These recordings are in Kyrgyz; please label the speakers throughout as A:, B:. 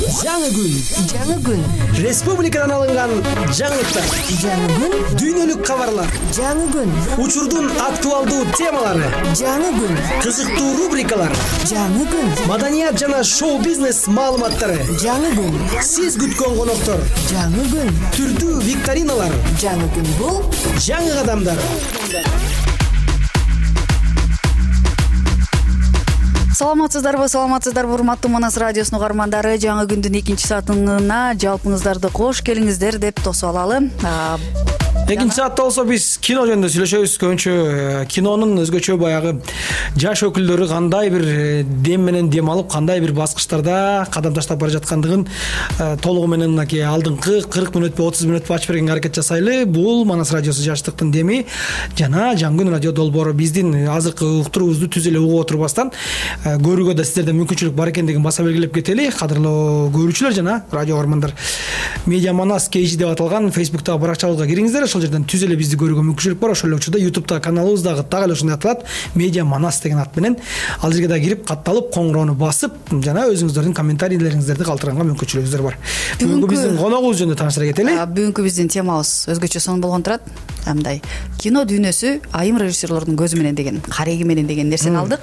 A: Жаңы күн.
B: Республикадан алынган жаңылыктар.
A: Жаңы күн.
B: Дүйнөлүк кабарлар.
A: Жаңы күн.
B: Учурдун актуалдуу темалары.
A: Жаңы күн.
B: Кызыктуу рубрикалар.
A: Жаңы күн.
B: Маданият жана шоу-бизнес маалыматтары.
A: Жаңы күн.
B: Сиз күткөн коноктор.
A: Жаңы күн.
B: Түрдүү викториналар.
A: Жаңы күн бул
B: Жаңы кадамдар.
C: Саламатсыздарбы, урматтуу Манас радиосунун угармандары. Жаңы күндүн 2 саатына жалпыңыздарды кош келиңиздер деп тосуп алалы.
B: 2 саатта болсо биз кино жөнүндө сүйлөшөбүз. Көбүнчө кинонун өзгөчө баягы жаш өкүлдөрү кандай бир дем менен дем алып, кандай бир баскычтарда кадам таштап бара жаткандыгын толугу менен мынакей алдыңкы 40 мүнөтпү 30 мүнөтпү ачып бергенге аракет жасайлы. Бул Манас радиосу жаштыктын деми жана Жаңы күн радио долбоору. Биздин азыркы уктуруубузду түз эле угуп отурбастан көрүүгө да сиздерде мүмкүнчүлүк бар экендигин баса белгилеп кетели. Кадырлуу көрүүчүлөр жана радио угармандар, Медиа Манас KG деп аталган Facebook'тагы баракчабызга кириңиздер. Ошол жерден түз эле бизди көрүүгө мүмкүнчүлүк бар. Ошол эле учурда YouTube'да каналыбыз дагы так эле ушундай аталат, Медиа Манас деген ат менен. Ал жерге да кирип, катталып, коңгуроону басып, жана өзүңүздөрдүн комментарийлериңиздерди калтырганга мүмкүнчүлүгүңүздөр бар. Бүгүнкү биздин коногубуз жөнүндө тааныштыра кетели.
C: Бүгүнкү биздин темабыз өзгөчө сонун болгон турат. Мындай кино дүйнөсү айым режиссерлордун көзү менен деген, кареги менен деген нерсени алдык.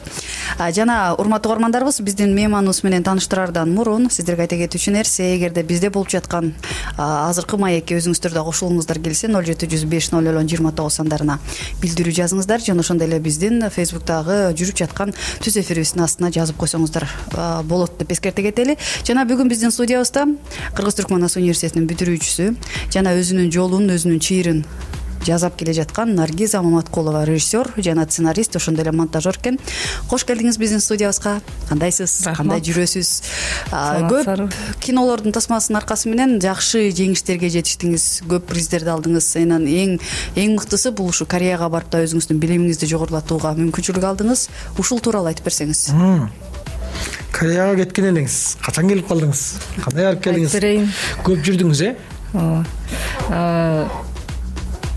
C: Жана урматтуу угармандарыбыз, биздин мейманыбыз менен тааныштырардан мурун сиздерге айта кетүүчү нерсе, эгерде бизде болуп жаткан азыркы маекке өзүңүздөр да кошулуңуздар келсе, 07050029 сандарына билдирүү жазыңыздар. Жана ошондой эле биздин Facebook'тагы жүрүп жаткан түз эфирибиздин астына жазып койсоңуздар болот деп эскерте кетели. Жана бүгүн биздин студиябызда Кыргыз-Түркманас университетинин бүтүрүүчүсү жана өзүнүн жолун, өзүнүн чыйырын жазап келе жаткан Наргиза Маматкулова, режиссер жана сценарист, ошондой эле монтажер экен. Кош келдиңиз биздин студиябызга. Кандайсыз? Кандай жүрөсүз? Көп кинолордун тасмасынын аркасы менен жакшы жеңиштерге жетиштиңиз, көп приздерди алдыңыз. Анан эң мыктысы бул ушу Кореяга барып да өзүңүздүн билимиңизди жогорулатууга мүмкүнчүлүк алдыңыз. Ушул тууралуу айтып берсеңиз.
B: Кореяга кеткен элеңиз. Качан келип калдыңыз? Кандай барып келдиңиз? Көп жүрдүңүз,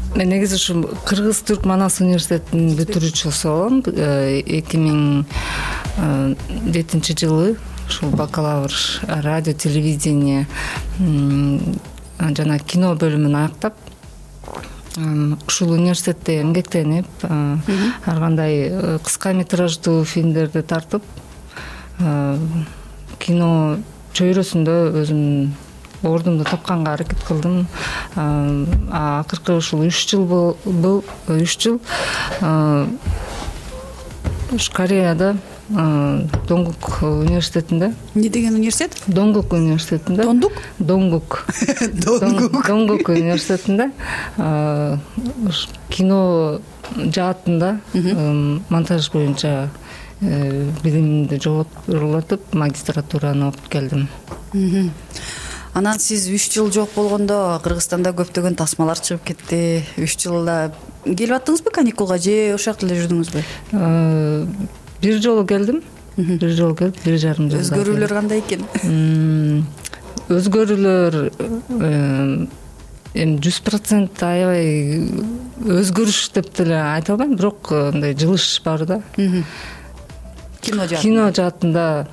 D: Мен негизи ушу Кыргыз-Түркманас университетинин бүтүрүүчүсү болом. 2007 жылы ушул бакалавр радио, телевидение жана кино бөлүмүн аяктап, ушул университетте эмгектенип, ар кандай кыска метраждуу фильмдерди тартып, кино чөйрөсүндө өзүмдүн ордумду тапканга аракет кылдым. Акыркы ушул 3 жыл Кореяда Донгук университетинде.
C: Не деген университет?
D: Донгук университетинде. Донгук университетинде кино жаатында монтаж боюнча билимимди жоготулатып, магистратураны окуп келдим.
C: Анан сиз 3 жыл жок болгондо Кыргызстанда көптөгөн тасмалар чыгып кетти. 3 жылда келип аттыңызбы каникулга же ошол жакта эле жүрдүңүзбү?
D: Бир жолу келдим. 1,5 жыл.
C: Өзгөрүүлөр кандай экен?
D: Өзгөрүүлөр 100% аябай өзгөрүш деп деле айта албайм, бирок мындай жылыш бар да. Кино жаатында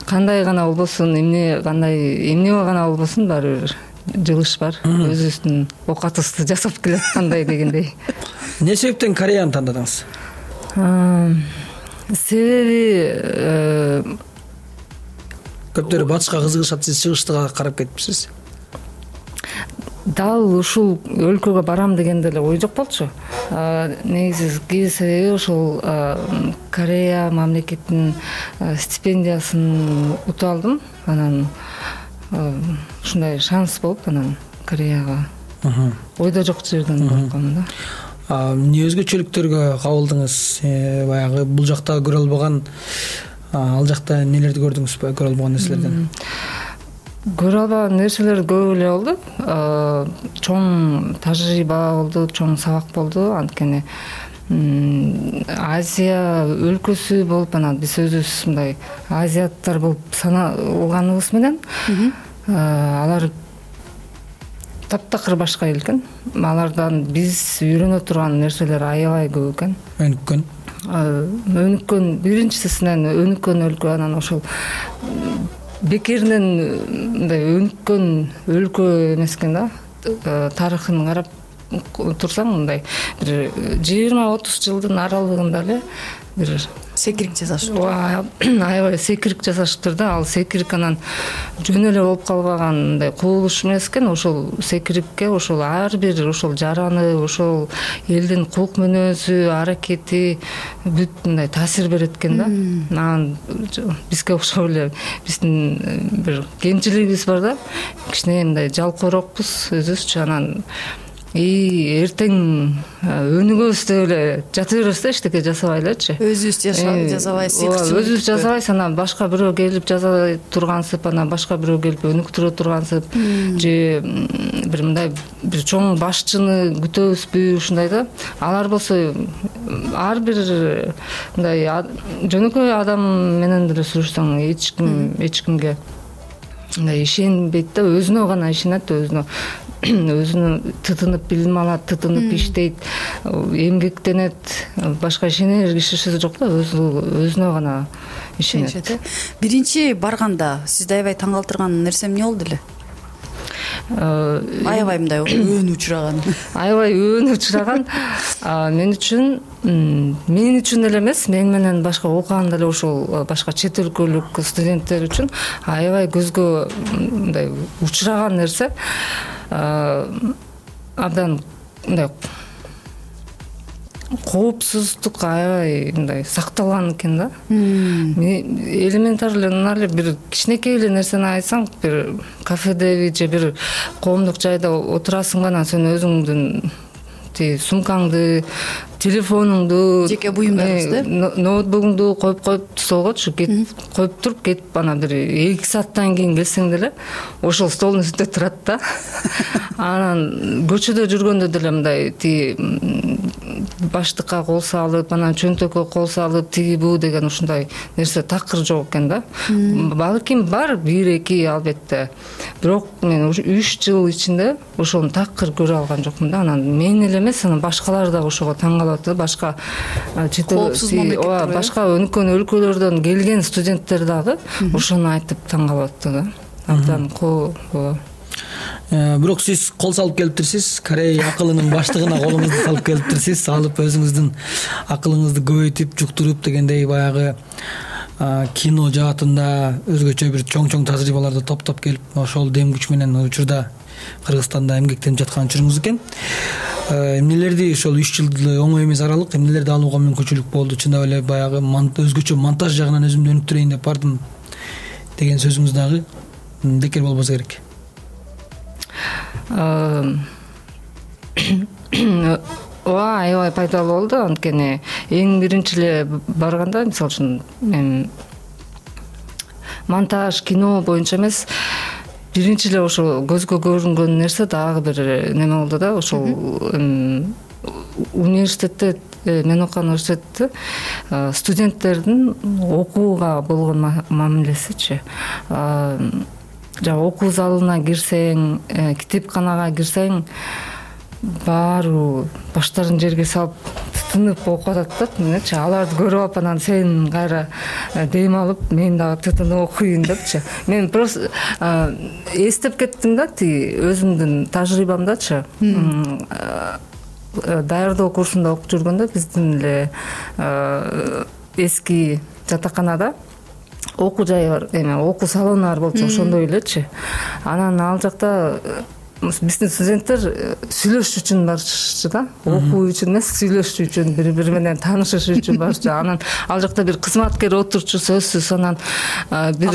D: кандай гана болбосун, эмне гана болбосун, баары бир жылыш бар. Өзүбүздүн оокатыбызды жасап келаткандай дегендей.
B: Эмне себептен Кореяны тандадыңыз?
D: Себеби
B: көптөрү батышка кызыгышат, сиз чыгыштыга карап кетипсиз.
D: Дал ушул өлкөгө барам деген деле ой жок болчу. Негизи себеби ушул Корея мамлекетинин стипендиясын утуп алдым. Анан ушундай шанс болуп, анан Кореяга ойдо жок жерден баргам да.
B: Эмне өзгөчөлүктөргө кабылдыңыз? Баягы бул жакта көрө албаган, ал жакта нелерди көрдүңүз? Көрө албаган нерселерден?
D: Көрө албаган нерселер көп эле болду. Чоң тажрыйба болду, чоң сабак болду. Анткени Азия өлкөсү болуп, анан биз өзүбүз мындай азиаттар болуп саналганыбыз менен алар таптакыр башка эл экен. Алардан биз үйрөнө турган нерселер аябай көп экен. Өнүккөн биринчисинен өнүккөн өлкө, анан ошол бекеринен мындай өнүккөн өлкө эмес экен да. Тарыхын карап турсаң мындай бир 20-30 жылдын аралыгында эле бир
C: секирик жасашып.
D: Аябай секирик жасашыптыр да. Ал секирик анан жөн эле болуп калбаган мындай кубулуш эмес экен. Ошол секирикке ошол ар бир ошол жараны, ошол элдин кулк мүнөзү, аракети бүт мындай таасир берет экен да. Анан бизге окшоп эле биздин бир кемчилигибиз бар да. Кичине мындай жалкоорокпуз өзүбүзчү. Анан эртең өнүгөбүз деп эле жата беребиз да, эчтеке жасабай элечи.
C: Өзүбүз жасабай,
D: өзүбүз жасабайбыз, анан башка бирөө келип жасай тургансып, анан башка бирөө келип өнүктүрө тургансып, же бир мындай бир чоң башчыны күтөбүзбү, ушундай да. Алар болсо ар бир мындай жөнөкөй адам менен деле сүрүшсөң эч кимге ишенбейт да, өзүнө гана ишенет, өзүнө тытынып билим алат, тытынып иштейт, эмгектенет, башка ишенер кишиси жок да, өзүнө гана ишенет.
C: Биринчи барганда сизди аябай таң калтырган нерсе эмне болду эле? Аябай мындай өөн учураган.
D: Аябай өөн учураган мен үчүн эле эмес, мен менен башка окуган деле ошол башка чет өлкөлүк студенттер үчүн аябай көзгө мындай учураган нерсе абдан мындай коопсуздук аябай мындай сакталган экен да. Элементарлуу эле бир кичинекей эле нерсени айтсаң, бир кафедеби же бир коомдук жайда отурасың, анан сен өзүңдүн сумкаңды, телефонуңду,
C: жеке буюмдарыңызды,
D: ноутбугуңду коюп столгочу, коюп туруп кетип анан бир 2 сааттан кийин келсең деле ошол столдун үстүндө турат да. Анан көчөдө жүргөндө деле мындай баштыкка кол салып, анан чөнтөккө кол салып, тиги бу деген ушундай нерсе такыр жок экен да. Балким бар 1-2 албетте. Бирок мен 3 жыл ичинде ошону такыр көрө алган жокмун да. Анан мен эле эмес, анан башкалар дагы ошого таң калып атты. Башка башка өнүккөн өлкөлөрдөн келген студенттер дагы ошону айтып таң калып атты да. Абдан
B: Бирок сиз кол салып келиптирсиз, Корей акылынын баштыгына колуңузду салып келиптирсиз, алып өзүңүздүн акылыңызды көбөйтүп, жуктуруп дегендей баягы кино жаатында өзгөчө бир чоң тажрыйбаларды топтоп келип, ошол дем күч менен учурда Кыргызстанда эмгектенип жаткан учуруңуз экен. Эмнелерди ошол 3 жыл оңой эмес аралык, эмнелерди алууга мүмкүнчүлүк болду? Чындап эле баягы өзгөчө монтаж жагынан өзүмдү өнүктүрөйүн деп бардым деген сөзүңүз дагы бекер болбосо керек.
D: Аябай пайдалуу болду, анткени эң биринчи эле барганда, мисалы үчүн мен монтаж, кино боюнча эмес, биринчи эле ошо көзгө көрүнгөн нерсе дагы бир неме болду да. Ошол университетте, мен окуган университетте студенттердин окууга болгон мамилесичи. Окуу залына кирсең, китепканага кирсең, баары баштарын жерге салып тытынып окуп атат да. Менчи аларды көрүп алып, анан сен кайра дем алып, мен дагы тытынып окуйын депчи. Мен просто эстеп кеттим да, өзүмдүн тажрыйбамдачы. Даярдоо курсунда окуп жүргөндө биздин эле эски жатаканада окуу жайы бар, окуу салону бар болчу, ошондой элечи. Анан ал жакта биздин студенттер сүйлөшүш үчүн барышчу да, окуу үчүн эмес, сүйлөшүш үчүн, бири менен таанышыш үчүн барышчу. Анан ал жакта бир кызматкер отурчу, сөзсүз, анан бир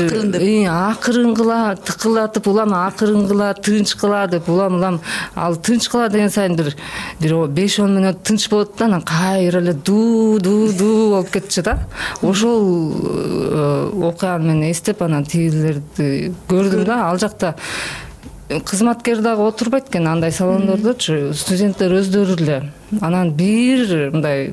D: акырынгыла тыкылдатып, улам акырынгыла, тынчкыла деп, улам ал тынчкыла деген сайын бир 5-10 мүнөт тынч болот да, анан кайра эле ду болуп кетчү да. Ошол окуяны мен эстеп, анан тигилерди көрдүм да. Ал жакта кызматкер дагы отурбайт экен андай салондордочу, студенттер өздөрү эле. Анан бир мындай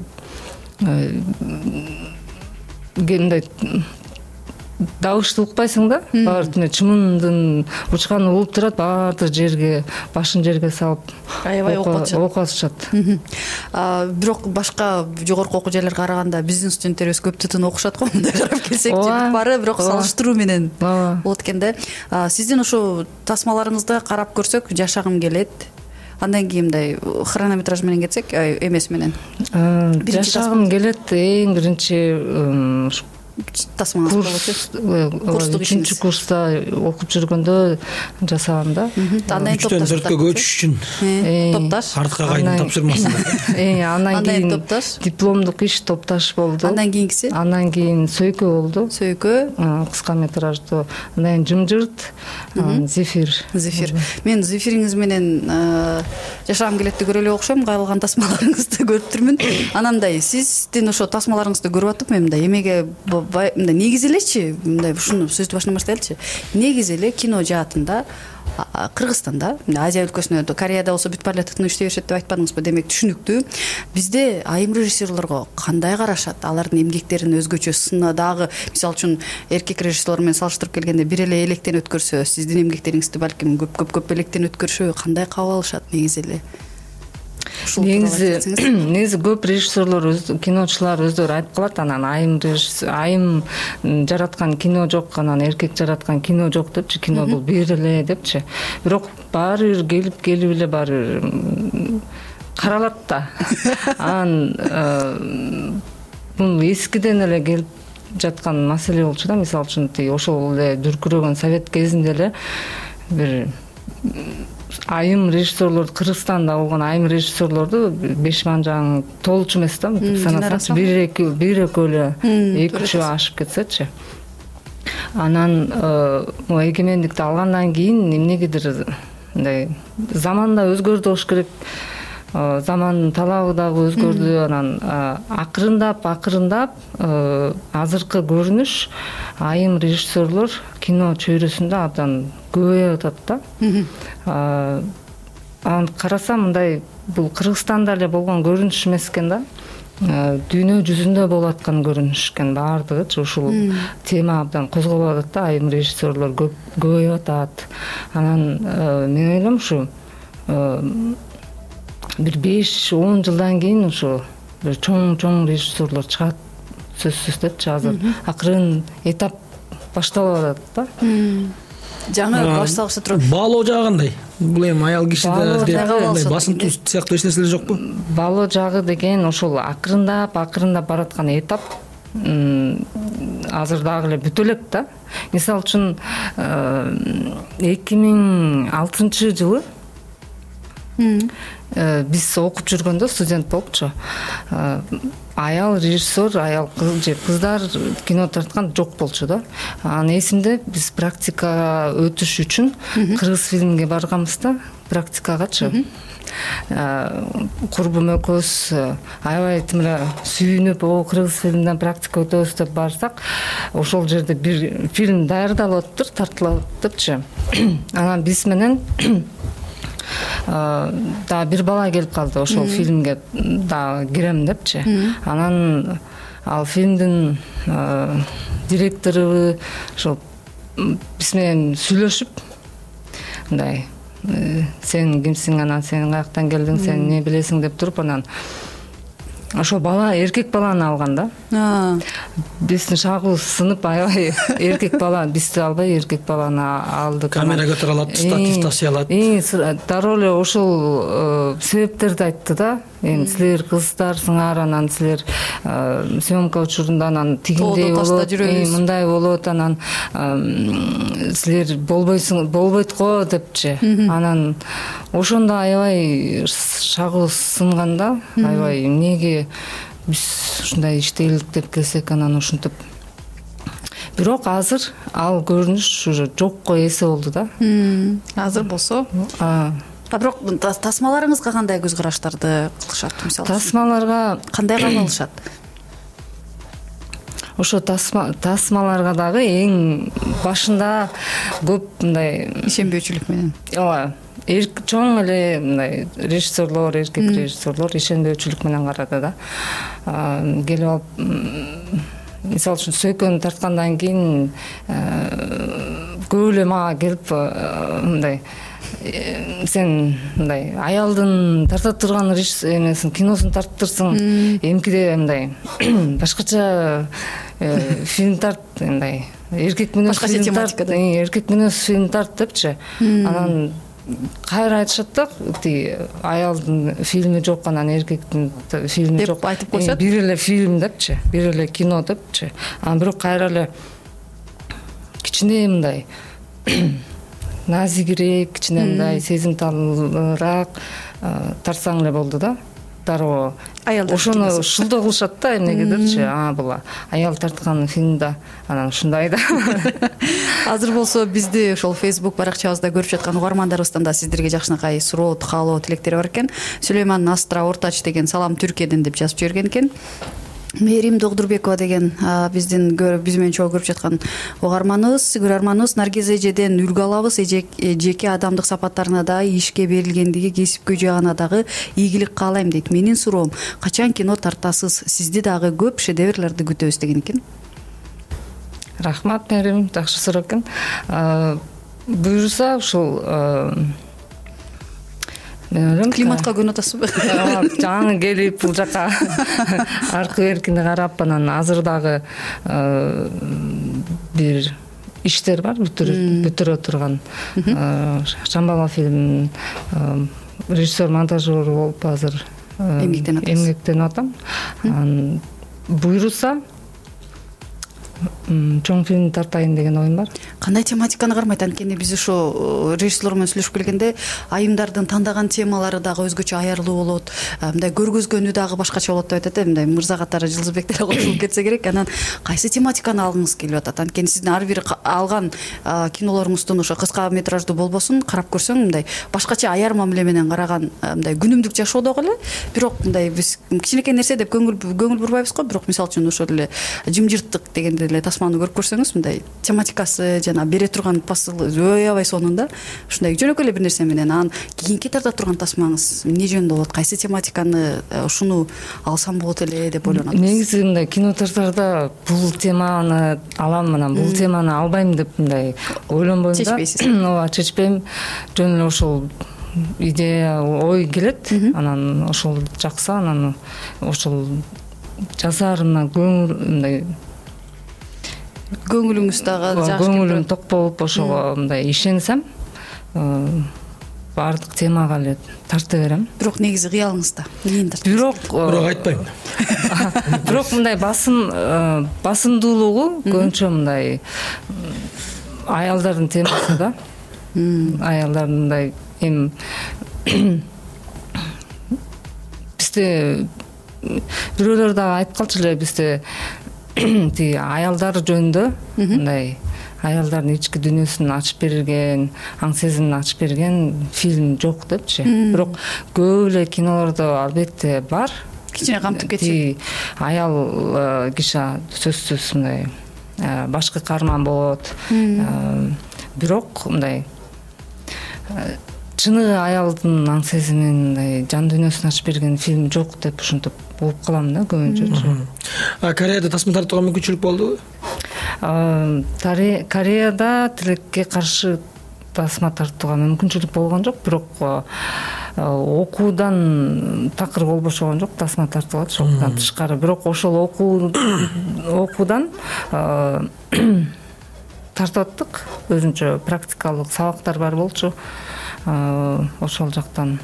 D: дабышты укпайсың да, баары чымындын учканы угуп турат, баарды жерге, башын жерге салып
C: аябай
D: окуп атышат.
C: Бирок башка жогорку окуу жайларга караганда биздин студенттерибиз көп тытын окушат го, мындай карап келсек, баары бирок салыштыруу менен болот экен да. Сиздин ошо тасмаларыңызды карап көрсөк, жашагым келет. Андан кийин мындай хронометраж менен кетсек, эмес менен.
D: Жашагым келет эң биринчи
C: тасмаңыз болчу. Курстук ишиңиз.
D: 3-курста окуп жүргөндө жасагам да.
C: Андан кийин
B: топтош. 4кө көчүш үчүн.
C: Топташ.
B: Артка кайдын тапшырмасын.
D: Андан кийин
C: топташ.
D: Дипломдук иш топташ болду.
C: Андан кийинкиси?
D: Андан кийин сөйкө болду.
C: Сөйкө.
D: Кыска метраждуу. Андан кийин жымжырт, зефир.
C: Мен зефириңиз менен жашагым келетти көрө эле окшойм, кайрылган тасмаларыңызды көрүп турмун. Анан мындай сиздин ошо тасмаларыңызды көрүп атып, мен мындай эмеге мындай негизи элечи, мындай ушуну сөздү башынан баштайлычы. Негизи эле кино жаатында Кыргызстанда, Азия өлкөсүндө, Кореяда болсо бүт баары эле тытын иштей беришет деп айтпадыңызбы? Демек түшүнүктүү. Бизде айым режиссерлорго кандай карашат? Алардын эмгектерин өзгөчө сына дагы, мисалы үчүн эркек режиссерлор менен салыштырып келгенде бир эле электен өткөрсө, сиздин эмгектериңизди балким көп электен өткөрүшөбү? Кандай кабыл алышат негизи эле?
D: Негизи көп режиссерлор, киночулар өздөрү айтып калат, анан айым жараткан кино жок, анан эркек жараткан кино жок депчи, кино бул бир эле депчи. Бирок баары бир келип эле баары каралат да. Анан бул эскиден эле келип жаткан маселе болчу да. Мисалы үчүн ошол эле дүркүрөгөн совет кезинде эле бир айым режиссерлор, Кыргызстанда болгон айым режиссерлорду Бешманжаң толчу эмес да, санасаңчы бир экөө эле 2-3 ашып кетсечи. Анан эгемендикти алгандан кийин эмнегедир мындай заман да өзгөрдү болуш керек. Замандын талабы дагы өзгөрдү. Анан акырындап азыркы көрүнүш айым режиссерлор кино чөйрөсүндө абдан көбөйүп атат да. Анан карасам мындай бул Кыргызстанда эле болгон көрүнүш эмес экен да. Дүйнө жүзүндө болуп аткан көрүнүш экен баардыгычы. Ушул тема абдан козголуп атат да. Айым режиссерлор көбөйүп атат. Анан мен ойлойм ушу бир 5-10 жылдан кийин ушу бир чоң режиссерлор чыгат сөзсүз депчи. Азыр акырын этап башталып атат да.
C: Жаңы башталышта турат.
B: Баалоо жагы кандай? Бул эми аял кишиде басым сыяктуу эч нерселер жокпу?
D: Баалоо жагы деген ошол акырындап бараткан этап азыр дагы эле бүтө элек да. Мисалы үчүн 2006 жылы биз окуп жүргөндө, студент болупчу, аял режиссер, аял кыз же кыздар кино тарткан жок болчу да. Анан эсимде биз практикага өтүш үчүн кыргыз фильмге барганбыз да, практикагачы. Курбум экөөбүз аябай тимире сүйүнүп, кыргыз фильмден практика өтөбүз деп барсак, ошол жерде бир фильм даярдалып атыптыр, тартылып атыптырчы. Анан биз менен да бир бала келип калды, ошол фильмге да кирем депчи. Анан ал фильмдин директору ошол биз менен сүйлөшүп, мындай сен кимсиң, анан сен каяктан келдиң, сен эмне билесиң деп туруп, анан ошо бала эркек баланы алган да. Биздин шагыбыз сынып, аябай эркек бала, бизди албай эркек баланы алдык.
B: Камера көтөрө алат, статив ташый алат.
D: Дароо эле ошол себептерди айтты да. Эми силер кыздарсыңар, анан силер съемка учурунда анан тигиндей болот, мындай болот, анан силер болбойт го депчи. Анан ошондо аябай шагыбыз сынган да. Аябай эмнеге биз ушундай иштейлик деп келсек, анан ушинтип. Бирок азыр ал көрүнүш уже жокко эсе болду да.
C: Азыр болсо. Бирок тасмаларыңызга кандай көз караштарды кылышат, мисалы?
D: Тасмаларга
C: кандай кабыл алышат?
D: Ошо тасмаларга дагы эң башында көп мындай
C: ишенбөөчүлүк менен.
D: Ооба. Чоң эле мындай режиссерлор, эркек режиссерлор ишенбөөчүлүк менен карады да. Келип алып мисалы үчүн сөйкөнү тарткандан кийин көп эле мага келип мындай сен мындай аялдын тарта турган эмесин киносун тарттырсың, эмкиде мындай башкача фильм тарт, мындай эркек мүнөз фильм тарт, эркек мүнөз фильм тарт депчи. Анан кайра айтышат да, аялдын фильми жок, анан эркектин фильми жок
C: деп айтып коюшат.
D: Бир эле фильм депчи, бир эле кино депчи. Анан бирок кайра эле кичине мындай назигирээк, кичине мындай сезимталыраак тарсаң эле болду да. Дароо ошону шулдоо кылышат да эмнегедирчи. Бул аял тарткан фильм да, анан ушундай да.
C: Азыр болсо бизди ошол Facebook баракчабызда көрүп жаткан угармандарыбыздан да сиздерге жакшынакай суроо, каалоо, тилектер бар экен. Сүлейман Астра Ортач деген салам Түркияден деп жазып жиберген экен. Мээрим Догдурбекова деген биз менен чогуу көрүп жаткан көрөрманыбыз Наргиз эжеден үлгү алабыз. Жеке адамдык сапаттарына да, ишке берилгендиги, кесипкөй жагына дагы ийгилик каалайм дейт. Менин суроом, качан кино тартасыз? Сизди дагы көп шедеврларды күтөбүз деген экен.
D: Рахмат Мээрим, жакшы суроо экен. Буюрса ушул
C: климатка күн атасызбы?
D: Жаңы келип бул жака аркы беркине карап, анан азыр дагы бир иштер бар бүтүрө турган. Шамбала фильмин режиссер, монтажер болуп азыр эмгектенип атам. Буйруса чоң фильм тартайын деген оюм бар.
C: Кандай тематиканы кармайт? Анткени биз ушу режиссерлор менен сүйлөшүп келгенде айымдардын тандаган темалары дагы өзгөчө аярлуу болот, мындай көргөзгөнү дагы башкача болот деп айтат. Мындай мырза катары Жылдызбек деле кошулуп кетсе керек. Анан кайсы тематиканы алгыңыз келип атат? Анткени сиздин ар бир алган кинолоруңуздун ошо кыска метраждуу болбосун карап көрсөң, мындай башкача аяр мамиле менен караган, мындай күнүмдүк жашоодогу эле, бирок мындай биз кичинекей нерсе деп көңүл бурбайбыз го, бирок мисалы үчүн ошол эле жымжырттык дегенде эле тасманы көрүп көрсөңүз, мындай тематикасы жана бере турган посыл аябай сонун да. Ушундай жөнөкөй эле бир нерсе менен анан кийинки тарта турган тасмаңыз эмне жөнүндө болот? Кайсы тематиканы ушуну алсам болот эле деп ойлонот?
D: Негизи мындай кино тартарда бул теманы алам, анан бул теманы албайм деп мындай ойлонбойм да.
C: Чечпейсиз?
D: Ооба, чечпейм. Жөн эле ошол идея, ой келет, анан ошол жакса, анан ошол жазаарына мындай
C: көңүлүңүз дагы жакшы,
D: көңүлүм ток болуп ошого мындай ишенсем, баардык темага эле тарта берем.
C: Бирок негизи кыялыңызда эмнени тартасыз?
B: Бирок айтпайм.
D: Бирок мындай басымдуулугу көбүнчө мындай аялдардын темасы да. Аялдардын мындай бизде бирөөлөр дагы айтып калчу эле, бизде аялдар жөнүндө мындай аялдардын ички дүйнөсүн ачып берген, аң сезимин ачып берген фильм жок депчи. Бирок көп эле кинолордо албетте бар.
C: Кичине камтып кетчү.
D: Аял киши сөзсүз мындай башкы каарман болот. Бирок мындай чыныгы аялдын аң сезимин, мындай жан дүйнөсүн ачып берген фильм жок деп ушинтип болуп калам да көбүнчө.
B: Кореяда тасма тартууга мүмкүнчүлүк болдубу?
D: Кореяда тилекке каршы тасма тартууга мүмкүнчүлүк болгон жок, бирок окуудан такыр болбошогон жок, тасма тартылат окуудан тышкары. Бирок ошол окуудан тартып аттык, өзүнчө практикалык сабактар бар болчу. Ошол жактан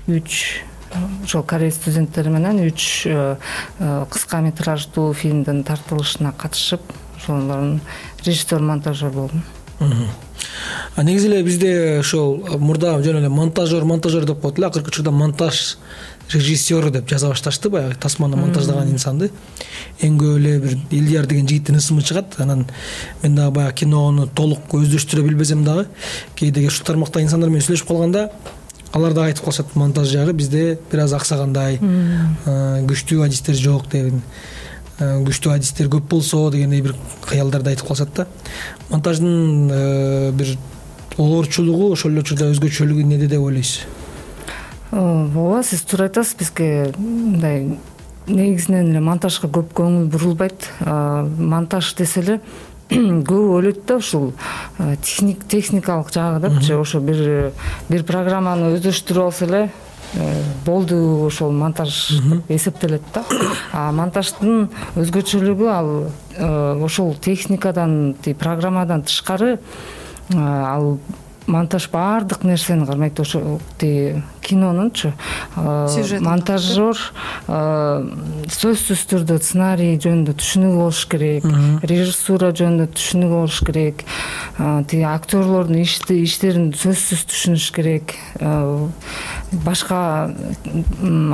D: 3 ошол корей студенттери менен 3 кыска метраждуу фильмдин тартылышына катышып, ошолордун режиссер, монтажер болдум.
B: Негизи эле бизде ошол мурда жөн эле монтажер деп коет эле, акыркы учурда монтаж режиссеру деп жаза башташты. Баягы тасманы монтаждаган инсанды эң көп эле бир Ильяр деген жигиттин ысымы чыгат. Анан мен дагы баягы кинону толук өздөштүрө билбесем дагы кээде ушул тармакта инсандар менен сүйлөшүп калганда алар да айтып калышат, монтаж жагы бизде бир аз аксагандай, күчтүү адистер жок деген, күчтүү адистер көп болсо дегендей бир кыялдарды айтып калышат да. Монтаждын бир олорчулугу ошол эле учурда өзгөчөлүгү неде деп ойлойсуз?
D: Ооба, сиз туура айтасыз. Бизге мындай негизинен эле монтажга көп көңүл бурулбайт. Монтаж десе эле көп ойлойт да ушул техникалык жагы депчи. Ошо бир программаны өздөштүрүп алса эле болду, ошол монтаж эсептелет да. Монтаждын өзгөчөлүгү ал ошол техникадан, программадан тышкары ал монтаж баардык нерсени кармайт. Ошо кинонунчу монтажер сөзсүз түрдө сценарий жөнүндө түшүнүгү болуш керек, режиссура жөнүндө түшүнүгү болуш керек, актерлордун иштерин сөзсүз түшүнүш керек, башка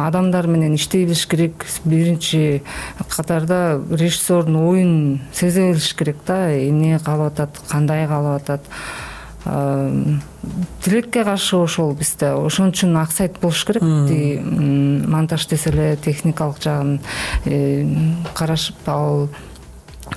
D: адамдар менен иштей билиш керек. Биринчи катарда режиссердун оюн сезе билиш керек да, эмне каалап атат, кандай каалап атат. Тилекке каршы ошол бизде ошон үчүн аксайт болуш керек. Монтаж десе эле техникалык жагын карашып, ал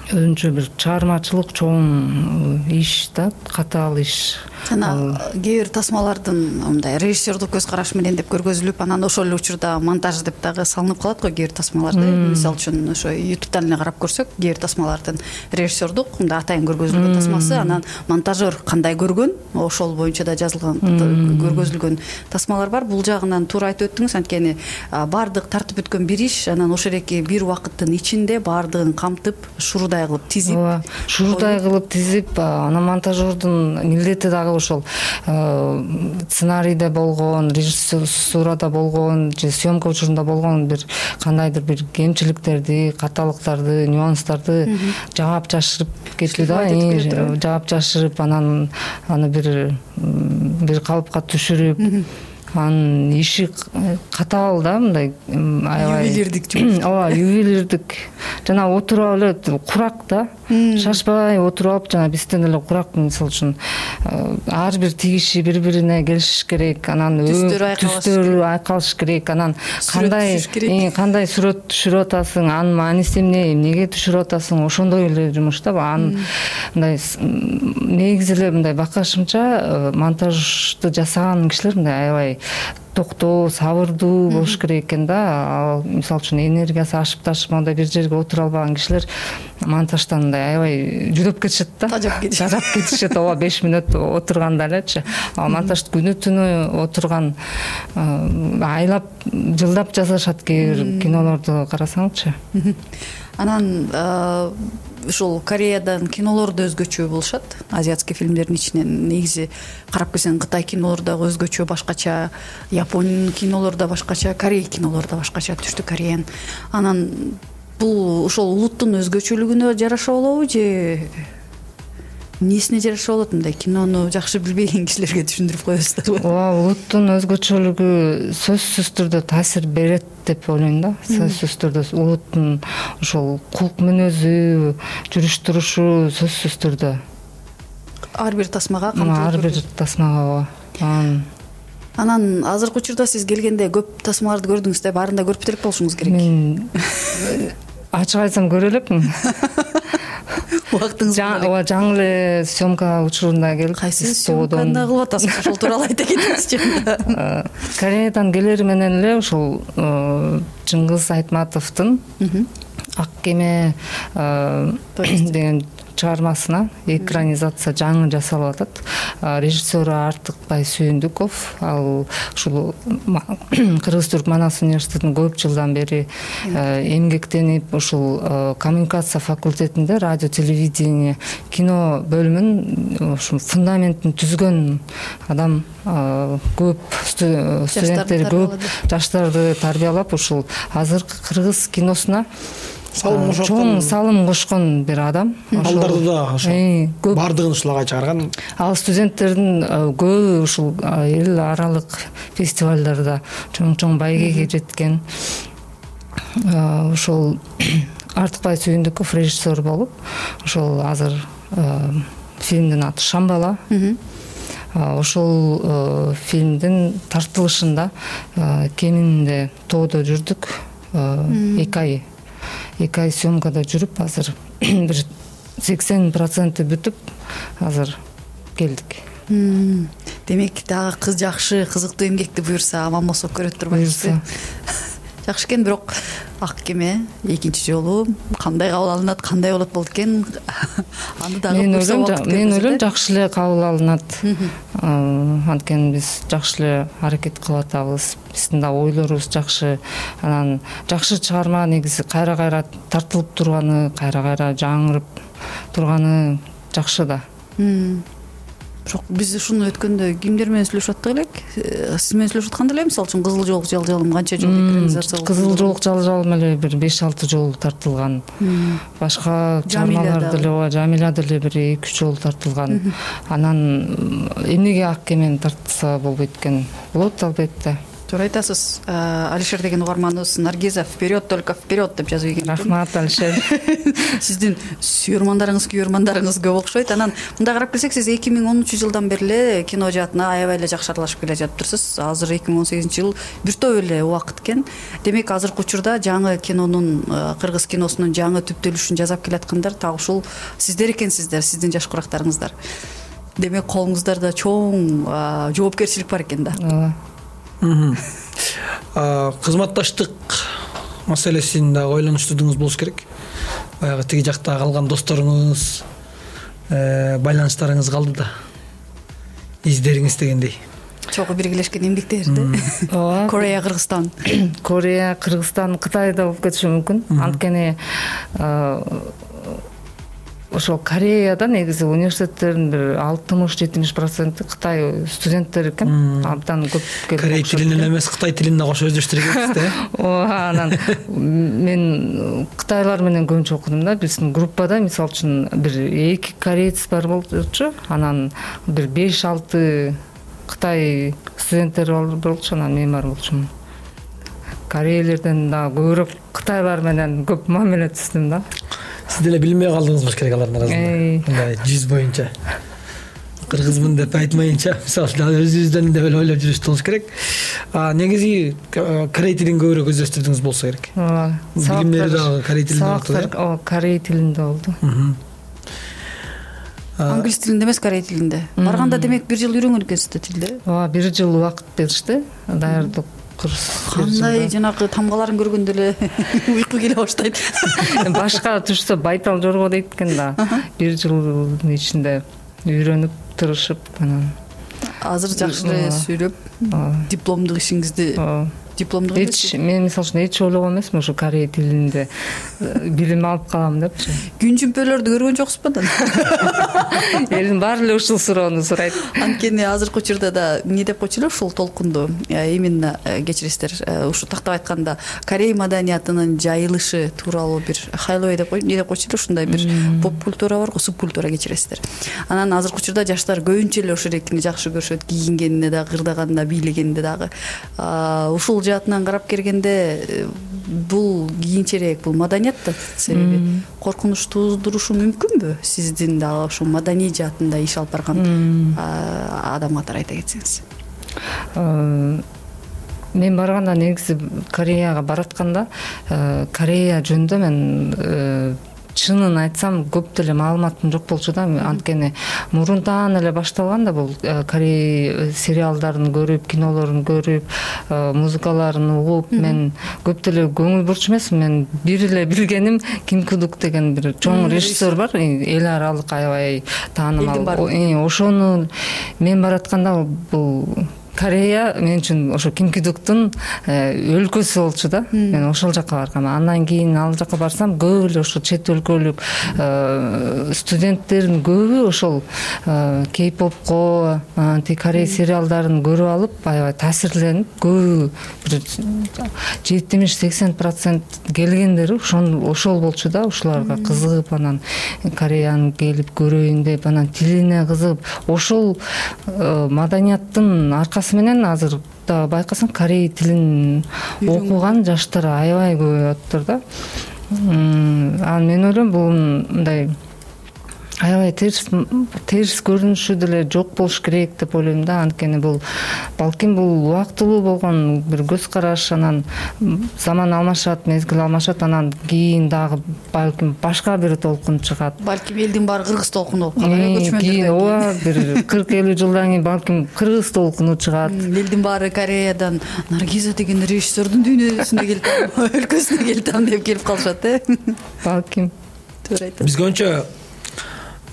D: өзүнчө бир чыгармачылык чоң иш да, катаал иш.
C: Жана кээ бир тасмалардын мындай режиссердук көз караш менен деп көргөзүлүп, анан ошол эле учурда монтаж деп дагы салынып калат го кээ бир тасмаларда. Мисалы үчүн ошо YouTube'дан эле карап көрсөк, кээ бир тасмалардын режиссердук мындай атайын көргөзүлгөн тасмасы, анан монтажер кандай көргөн, ошол боюнча да жазылган, көргөзүлгөн тасмалар бар. Бул жагынан туура айтып өттүңүз, анткени баардык тартып өткөн бир иш анан ошол эки бир убакыттын ичинде баардыгын камтып, шурудай кылып тизип,
D: шурудай кылып тизип, анан монтажердун милдети дагы ошол сценарийде болгон, режиссурада болгон же съемка учурунда болгон бир кандайдыр бир кемчиликтерди, каталыктарды, нюанстарды жаап жашырып кетүү да, жаап жашырып, анан аны бир калыпка түшүрүп, анын иши катаал да, мындай аябай
C: ювелирдик.
D: Ооба, ювелирдик. Жана отуруп эле курак да, шашпай отуруп алып, жана бизден эле курак, мисалы үчүн ар бир тигиши бири-бирине келишиш керек, анан түстөрү айкалыш керек, анан кандай сүрөт түшүрүп атасың, анын мааниси эмнеге түшүрүп атасың, ошондой эле жумуш да. Мындай негизи эле мындай бакашымча монтажды жасаган кишилер мындай аябай токтоо, сабырдуу болуш керек экен да. Ал мисалы үчүн энергиясы ашып ташып мондай бир жерге отура албаган кишилер монтаждан мындай аябай жүдөп кетишет да. Тажап кетишет. Ооба, 5 мүнөт отурганда элечи. Монтажды күнү түнү отурган, айлап, жылдап жасашат кээ бир кинолорду карасаңчы.
C: Анан ушул Кореядан кинолор да өзгөчө болушат. Азиатский фильмдердин ичинен негизи карап келсең, Кытай кинолору дагы өзгөчө, башкача, Япон кинолору да башкача, Корей кинолору да башкача, Түштүк Кореян. Анан бул ошол улуттун өзгөчөлүгүнө жараша болобу же эмнесине жараша болот? Мындай кинону жакшы билбеген кишилерге түшүндүрүп коесуздарбы?
D: Ооба, улуттун өзгөчөлүгү сөзсүз түрдө таасир берет деп ойлойм да. Сөзсүз түрдө улуттун ошол кулк мүнөзү, жүрүш турушу сөзсүз түрдө
C: ар бир тасмага камтылып,
D: ар бир тасмага.
C: Анан азыркы учурда сиз келгенде көп тасмаларды көрдүңүз да, баарын да көрүп элек болушуңуз керек.
D: Мен ачык айтсам көрө элекмин.
C: Убактыңыз
D: ооба, жаңы эле съемка учурунда келип,
C: кайсы съемканы кылып атасыз? Ошол тууралуу айта кетиңизчи.
D: Кореядан келери менен эле ошол Чыңгыз Айтматовдун Ак кеме деген чыгармасына экранизация жаңы жасалып атат. Режиссеру Артыкбай Сүйүндүков, ал ушул Кыргыз-Түрк Манас университетинин көп жылдан бери эмгектенип, ушул коммуникация факультетинде радио, телевидение, кино бөлүмүн ушул фундаментин түзгөн адам. Көп студенттер, көп жаштарды тарбиялап, ушул азыркы кыргыз киносуна чоң салым кошкон бир адам.
B: Балдарды да ошо бардыгын ушулга чыгарган.
D: Ал студенттердин көбү ушул эл аралык фестивалдарда чоң байгеге жеткен. Ошол Артыкбай Сүйүндүков режиссер болуп, ошол азыр фильмдин аты Шамбала. Ошол фильмдин тартылышында кеминде тоодо жүрдүк 2 ай съемкада жүрүп, азыр бир 80% бүтүп, азыр келдик.
C: Демек, дагы кыз жакшы, кызыктуу эмгекти буюрса, аман болсо көрөт турбайбыз. Жакшы экен, бирок Ак кеме экинчи жолу кандай кабыл алынат, кандай болот экен? Аны дагы
D: мен ойлойм жакшы эле кабыл алынат. Анткени биз жакшы эле аракет кылып атабыз. Биздин да ойлорубуз жакшы. Анан жакшы чыгарма негизи кайра тартылып турганы, кайра жаңырып турганы жакшы да.
C: Бирок биз ушуну өткөндө кимдер менен сүйлөшүп аттык элек? Сиз менен сүйлөшүп атканда эле, мисалы үчүн Кызыл жолук жалжалым канча жолу экранизация болду?
D: Кызыл жолук жалжалым эле бир 5-6 жолу тартылган. Башка чыгармалар деле, Жамиля деле бир 2-3 жолу тартылган. Анан эмнеге ак кемени тартса болбойт экен? Болот албетте.
C: Туура айтасыз. Алишер деген угарманыбыз Наргиза вперед, только вперед деп жазып ийген.
D: Рахмат, Алишер.
C: Сиздин күйөрмандарыңыз көп окшойт. Анан мындай карап келсек, сиз 2010-жылдан бери эле кино жаатына аябай эле жакшы аралашып келе жатыптырсыз. Азыр 2018-жыл бир топ эле убакыт экен. Демек, азыркы учурда жаңы кинонун, кыргыз киносунун жаңы түптөлүшүн жасап келаткандар так ушул сиздер экенсиздер, сиздин жаш курактарыңыздар. Демек, колуңуздарда чоң жоопкерчилик бар экен да.
B: Кызматташтык маселесин да ойлонуштурдуңуз болуш керек. Баягы тиги жакта калган досторуңуз, байланыштарыңыз калды да. Издериңиз дегендей.
C: Чогуу биргелешкен эмгектерди. Корея, Кыргызстан.
D: Корея, Кыргызстан, Кытай да болуп кетиши мүмкүн. Анткени ошол Кореяда негизи университеттердин бир 60-70% Кытай студенттери экен. Абдан көп келип.
B: Корей тилинен эмес, Кытай тилине кошо өздөштүрүп кетсиз да.
D: Анан мен кытайлар менен көбүнчө окудум да. Биздин группада мисалы үчүн бир 2 корейц бар болчу. Анан бир 5-6 Кытай студенттери болчу. Анан мен бар болчумун. Корейлерден да көбүрөөк кытайлар менен көп мамиле түздүм да.
B: Сиз деле билбей калдыңыз болуш керек алардын арасында. Мындай жүз боюнча. Кыргызмын деп айтмайынча, мисалы өзүбүздөн деп эле ойлоп жүрүш болуш керек. Негизи корей тилин көбүрөөк өздөштүрдүңүз болсо керек. Билимдери дагы корей тилинде болду.
D: Корей тилинде болду.
C: Англис тилинде эмес, корей тилинде. Барганда демек 1 жыл үйрөнгөн экенсиз да тилди.
D: 1 жыл убакыт беришти. Даярдык
C: кандай жанагы тамгаларын көргөндө эле уйку келе баштайт.
D: Башка түшсө байтал жорго дейт экен да. 1 жылдын ичинде үйрөнүп, тырышып анан
C: азыр жакшы эле сүйлөп, дипломдук ишиңизди
D: мен мисалы үчүн эч ойлогон эмесмин ушу корей тилинде билим алып калам депчи.
C: Күн жүмпөлөрдү көргөн жоксузбу да?
D: Элдин баары эле ушул суроону сурайт.
C: Анткени азыркы учурда да эмне деп койчу эле ушул толкунду, именно кечиресиздер, ушу тактап айтканда корей маданиятынын жайылышы тууралуу бир хайлой деп эмне деп койчу эле, ушундай бир поп культура бар го, субкультура, кечиресиздер. Анан азыркы учурда жаштар көбүнчө эле ошол эркини жакшы көрүшөт, кийингенине дагы, кырдаганына, бийлегенине дагы. Ушул жаатынан карап келгенде бул кийинчерээк, бул маданият да себеби коркунуч туудурушу мүмкүнбү? Сиздин дагы ошо маданий жаатында иш алып барган адам катары айта кетсеңиз.
D: Мен барганда негизи Кореяга баратканда Корея жөнүндө мен чынын айтсам көп деле маалыматым жок болчу да. Анткени мурунтан эле башталган да бул Корей сериалдарын көрүп, кинолорун көрүп, музыкаларын угуп, мен көп деле көңүл бурчу эмесмин. Мен бир эле билгеним Ким Кудук деген бир чоң режиссер бар, эл аралык аябай таанымал. Ошону мен баратканда бул Корея мен үчүн ошо Ким Кудуктун өлкөсү болчу да. Мен ошол жака баргам. Андан кийин ал жака барсам көп эле ошо чет өлкөлүк студенттердин көбү ошол кей-попко, Корей сериалдарын көрүп алып аябай таасирленип, көбү 70-80% келгендери ошол болчу да. Ушуларга кызыгып, анан Кореяны келип көрөйүн деп, анан тилине кызыгып, ошол маданияттын аркасы менен азыр да байкасаң корей тилин окуган жаштар аябай көп атыптыр да. Анан мен ойлойм бул мындай аябай терс көрүнүшү деле жок болуш керек деп ойлойм да. Анткени бул балким бул убактылуу болгон бир көз караш, анан заман алмашат, мезгил алмашат, анан кийин дагы балким башка бир толкун чыгат.
C: Балким элдин баары кыргыз толкуну болуп калат, көчмөндөр.
D: Ооба, бир 40-50 жылдан кийин балким кыргыз толкуну чыгат.
C: Элдин баары Кореядан Наргиза деген режиссердун дүйнөсүнө келип, өлкөсүнө келип деп келип калышат,
D: Балким.
C: Туура айтасың.
B: Бизге ончо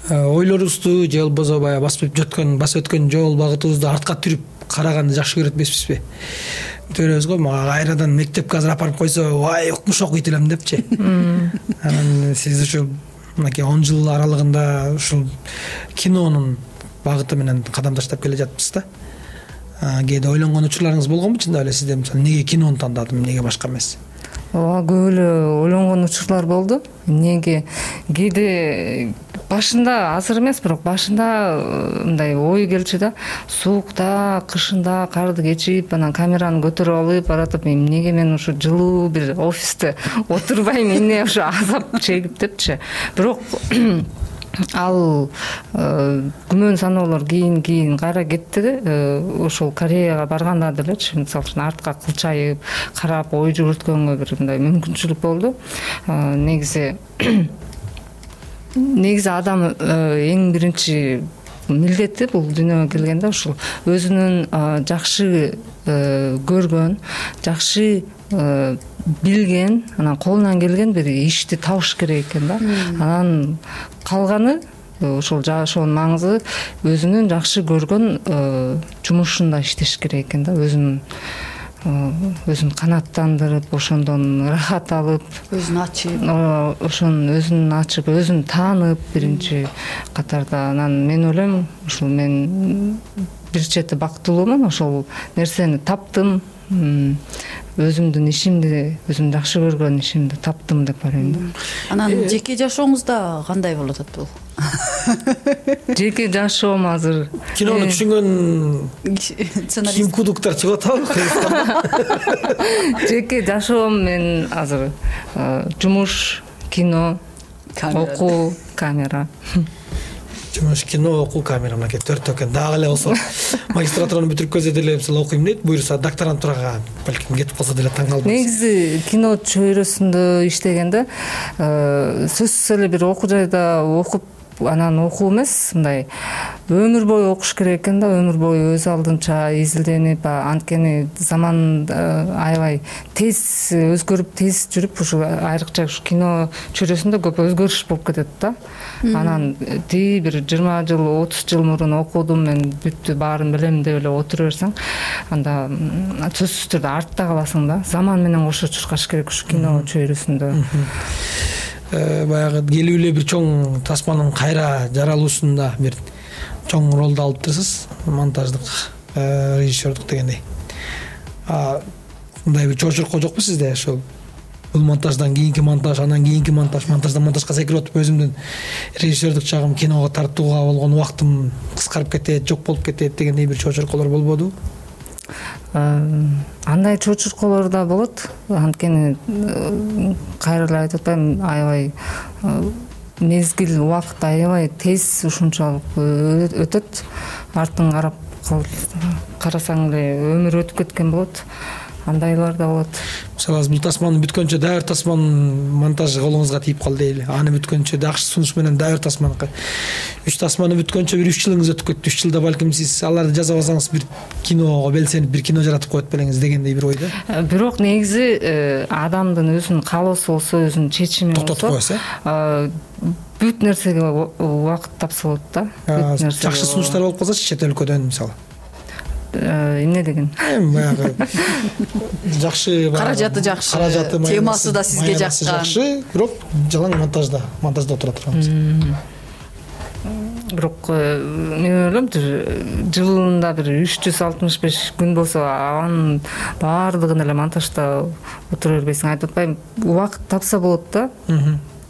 B: ойлорубузду же болбосо баягы басып өткөн жол багытыбызды артка түрүп караганды жакшы көрөт эмеспизби? Төрөбүз го, мага кайрадан мектепке азыр апарып койсо, вай укмуш окуйт элем депчи. Анан сиз ушул мынакей 10 жыл аралыгында ушул кинонун багыты менен кадам таштап келе жатпысыз да. Кээде ойлонгон учурларыңыз болгонбу чындап эле сизде? Мисалы, неге кинону тандадым, неге башка эмес?
D: Ооба, көп эле ойлонгон учурлар болду. Эмнеге кээде башында, азыр эмес, бирок башында мындай ой келчү да. Суукта, кышында карды кечип, анан камераны көтөрүп алып баратып, эмнеге мен ушу жылуу бир офисте отурбайм, эмне ушу азап чегип депчи. Бирок ал күмөн саноолор кийин кайра кетти. Ошол Кореяга барганда делечи, мисалы үчүн артка кылчайып карап ой жүгүрткөнгө бир мындай мүмкүнчүлүк болду. Негизи адам эң биринчи милдети бул дүйнөгө келгенде ушул өзүнүн жакшы көргөн, жакшы билген, анан колунан келген бир ишти табыш керек экен да. Анан калганы ошол жашоонун маңызы өзүнүн жакшы көргөн жумушунда иштеш керек экен да. Өзүн канааттандырып, ошондон рахат алып,
C: өзүн ачып,
D: өзүн ачып, өзүн таанып биринчи катарда. Анан мен ойлойм, ушул мен бир чети бактылуумун, ошол нерсени таптым. Өзүмдүн ишимди, өзүм жакшы көргөн ишимди таптым деп ойлойм.
C: Анан жеке жашооңузда кандай болуп атат бул?
D: Жеке жашоом азыр
B: Кинону түшүнгөн ким кудуктар чыгып атабы Кыргызстанда?
D: Жеке жашоом мен азыр жумуш, кино, окуу, камера.
B: Жумуш, кино, окуу, камера, мынакей 4 экен. Дагы эле болсо магистратураны бүтүрүп келсе деле мисалы окуйм дейт, буюрса докторантурага балким кетип калса деле таң калбайсыз.
D: Негизи кино чөйрөсүндө иштегенде сөзсүз эле бир окуу жайда окуп анан окуу эмес, мындай өмүр бою окуш керек экен да, өмүр бою өз алдынча изилденип, анткени заман аябай тез өзгөрүп, тез жүрүп, ушу айрыкча ушу кино чөйрөсүндө көп өзгөрүш болуп кетет да. Анан бир 20 жыл, 30 жыл мурун окудум, мен бүттү, баарын билем деп эле отура берсең, анда сөзсүз түрдө артта каласың да. Заман менен кошо чуркаш керек ушу кино чөйрөсүндө.
B: Баягы келүү эле бир чоң тасманын кайра жаралуусунда бир чоң ролду алыптырсыз, монтаждык, режиссердук дегендей. Мындай бир чочуркоо жокпу сизде? Ошол бул монтаждан кийинки монтаж, анан кийинки монтаж, монтаждан монтажга секирип отуп өзүмдүн режиссердук жагым, киного тартууга болгон убактым кыскарып кетет, жок болуп кетет дегендей бир чочурколор болбодубу?
D: Андай чочурколор да болот. Анткени кайра эле айтып атпайм, аябай мезгил, убакыт аябай тез ушунчалык өтөт. Артын карасаң эле өмүр өтүп кеткен болот. Андайлар да болот.
B: Мисалы, бул тасманы бүткөнчө дагы бир тасманын монтажы колуңузга тийип калды дейли. Аны бүткөнчө жакшы сунуш менен дагы бир тасманы. 3 тасманы бүткөнчө бир 3 жылыңыз өтүп кетти. 3 жылда балким сиз аларды жасап алсаңыз бир киного белсенип бир кино жаратып коет белеңиз дегендей бир ойдо.
D: Бирок негизи адамдын өзүнүн каалоосу болсо, өзүнүн чечими болсо,
B: токтотуп коесуз,
D: бүт нерсеге убакыт тапса болот да.
B: Жакшы сунуштар болуп калсачы чет өлкөдөн мисалы.
D: Эмне деген?
B: Баягы жакшы,
C: каражаты жакшы, темасы да сизге жаккан.
B: Бирок жалаң монтажда отура турганбыз.
D: Бирок мен ойлойм, жылында бир 365 күн болсо, анын баардыгын эле монтажда отура бербейсиң. Айтып атпайм, убакыт тапса болот да.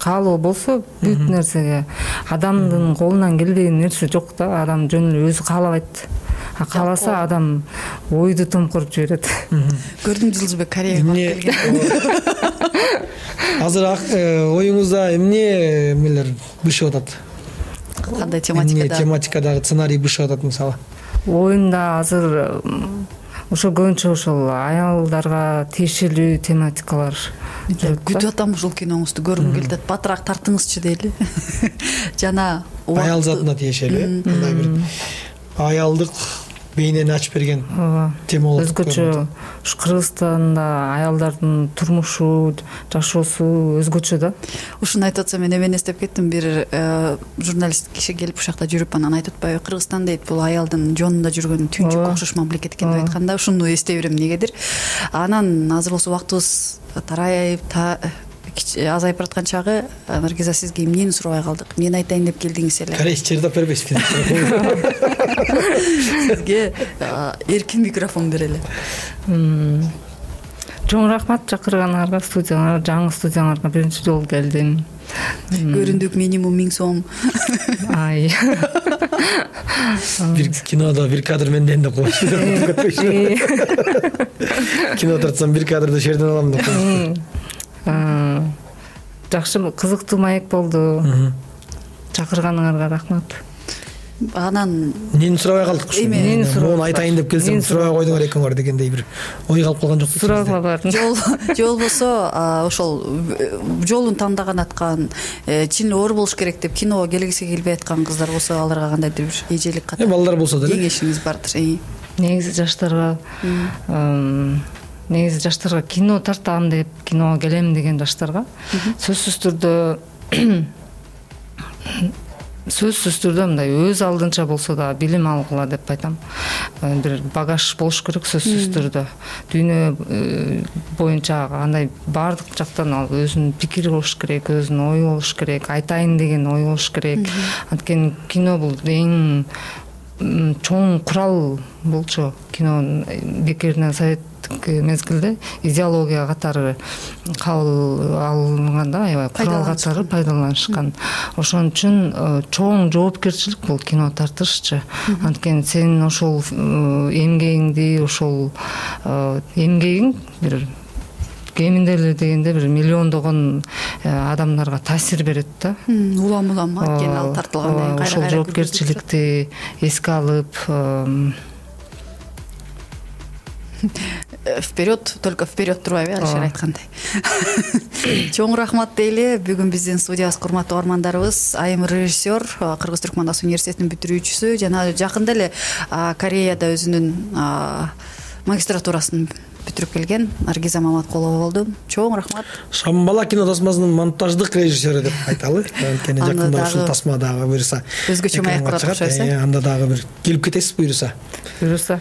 D: Каалоо болсо бүт нерсеге. Адамдын колунан келбеген нерсе жок да. Адам жөн эле өзү каалабайт. Кааласа адам ойду томкоруп жиберет.
C: Көрдүм, Жылжыбек Кореяга барып келген.
B: Азыр оюңузда эмнелер бышып атат?
C: кандай
B: эмне тематикадагы сценарий бышып атат мисалы?
D: Оюнда азыр ошо көбүнчө ошол аялдарга тиешелүү тематикалар
C: күтүп атам, ушул киноңузду көргүм келип атат. Батыраак тартыңызчы дейли. Жана
B: Аял затына тиешелүү, кандай бир аялдык бейнени ачып берген тема болот.
D: Өзгөчө ушу Кыргызстанда аялдардын турмушу, жашоосу өзгөчө да.
C: Ушуну айтып атсам, мен эмени эстеп кеттим. Бир журналист киши келип ушакта жүрүп, анан айтып атпайбы, Кыргызстан дейт, бул аялдын жонунда жүргөн түнчүккө окшош мамлекет экен деп айтканда, ушуну эстей берем эмнегедир. Анан азыр болсо убактыбыз тарайып азайып бараткан чагы, Наргиза, сизге эмнени сурабай калдык? Мен айтайын деп келдиңиз эле.
B: Корейч чырдап бербейсизби?
C: Сизге эркин микрофон берели.
D: Чоң рахмат чакырганыңарга, студияңарга, жаңы студияңарга биринчи жолу келдим.
C: Көрүндүк минимум 1000 сом.
D: Ай.
B: Бир кинодо бир кадр менден деп коюшу. Кино тартсам бир кадрды жерден алам деп коюшу.
D: Жакшы, кызыктуу маек болду. Чакырганыңарга рахмат.
C: Анан
B: эмнени сурабай калдык ушу? Муну айтайын деп келсем сурабай койдуңар экенңер дегендей бир ой калып калган жокпу?
D: Сурабай бардым.
C: Жол болсо ошол жолун тандаган аткан, чын оор болуш керек деп киного келгиси келбей аткан кыздар болсо, аларга кандайдыр бир эжелик катары
B: балдар болсо деле
C: кеңешиңиз бардыр.
D: Негизи жаштарга кино тартам деп, киного келем деген жаштарга сөзсүз түрдө мындай өз алдынча болсо да билим алгыла деп айтам. Бир багаж болуш керек сөзсүз түрдө. Дүйнө боюнча андай баардык жактан ал өзүнүн пикири болуш керек, өзүнүн ою болуш керек, айтайын деген ой болуш керек. Анткени кино бул эң чоң курал болчу. Кино бекеринен советтик мезгилде идеология катары кабыл алынганда, аябай курал катары пайдаланышкан. Ошон үчүн чоң жоопкерчилик бул кино тартышчы. Анткени сен ошол эмгегиңди, ошол эмгегиң бир кеминде эле дегенде бир миллиондогон адамдарга таасир берет да.
C: Улам анткени ал тартылгандан кийин
D: ошол жоопкерчиликти эске алып, вперед, только вперед турбайбы, Алишер айткандай. Чоң рахмат дейли. Бүгүн биздин студиябызга урматтуу армандарыбыз айым режиссер, Кыргыз Түркмандас университетинин бүтүрүүчүсү жана жакында эле Кореяда өзүнүн магистратурасын бүтүрүп келген Наргиза Маматкулова болду. Чоң рахмат.
B: Шамбала кино тасмасынын монтаждык режиссеру деп айталы. Анткени жакында ушул тасма дагы буюрса
C: өзгөчө маек кылат окшойсуз.
B: Анда дагы бир келип кетесиз буюрса.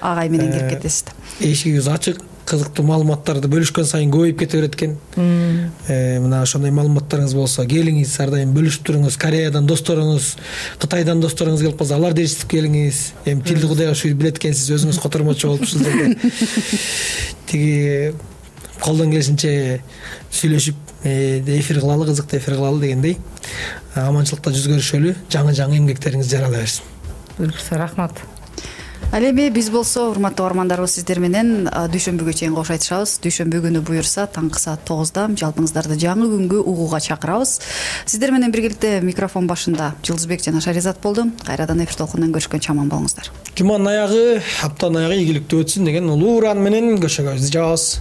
C: Агай менен келип кетесиз.
B: Эшигибиз ачык, кызыктуу маалыматтарды бөлүшкөн сайын көбөйүп кете берет экен. Мына ошондой маалыматтарыңыз болсо келиңиз, ар дайым бөлүшүп туруңуз. Кореядан досторуңуз, Кытайдан досторуңуз келип калса, аларды ээрчитип келиңиз. Эми тилди кудайга ушул билет экенсиз, өзүңүз котормочу болуп ушул жерде. Тиги колдон келишинче сүйлөшүп, эфир кылалы, кызыктуу эфир кылалы дегендей. Аманчылыкта жүз көрүшөлү, жаңы эмгектериңиз жарала берсин.
D: Буюрса рахмат.
C: Ал эми биз болсо урматтуу армандарыбыз сиздер менен дүйшөмбүгө чейин кош айтышабыз. Дүйшөмбү күнү буюрса таңкы саат 9-да жалпыңыздарды жаңы күнгө угууга чакырабыз. Сиздер менен биргеликте микрофон башында Жылдызбек жана Шаризат болду. Кайрадан эфир толкунунан көрүшкөнчө аман болуңуздар. Жуманын аягы, аптанын аягы ийгиликтүү өтсүн деген улуу уран менен көшөгө жабабыз.